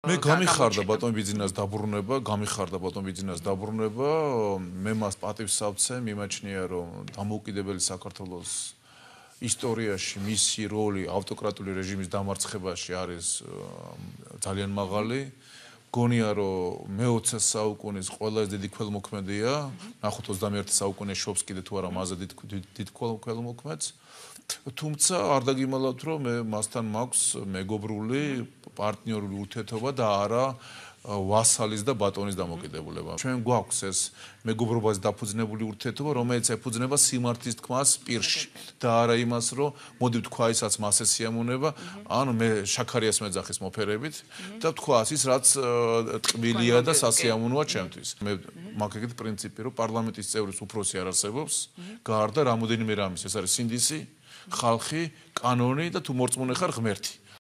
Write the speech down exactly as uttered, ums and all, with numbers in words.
მე გამიხარდა ბატონ ბიძინას დაბრუნება, გამიხარდა ბატონ ბიძინას დაბრუნება, მე მას პატივს ავცე, მიმაჩნია რომ დამოუკიდებელი საქართველოს ისტორიაში მისი როლი ავტოკრატიული რეჟიმის დამარცხებაში არის ძალიან მაღალი. გონია რომ მეოცე საუკუნის ყველაზე დიდი ქველმოქმედია, ნახოთ ოცდამეერთე საუკუნე შობს კიდე თუ არა მასზე დიდ ქველმოქმედს. თუმცა არ დაგიმალავთ რომ მე მასთან მაქვს მეგობრული პარტნიორული ურთიერთობა და არა ვასალის და ბატონის დამოკიდებულება. ჩვენ გვაქვს ეს მეგობრობაზე დაფუძნებული ურთიერთობა, რომელიც ეფუძნება სიმართლის თქმას პირში და არა იმას, რომ მოდი ვთქვა ისაც მასე სიამონება, ანუ მე შაქარიას მეძახის მოფერებით და ვთქვა ის რაც ტკბილია და სასიამოვნოა ჩემთვის. მე მაქვს ეგეთი პრინციპი, რომ პარლამენტის წევრის უფროსი არ არსებობს, გარდა რამოდენიმე რამის, ეს არის სინდისი, ხალხი, კანონი და თუ მორწმუნე ხარ ღმერთი.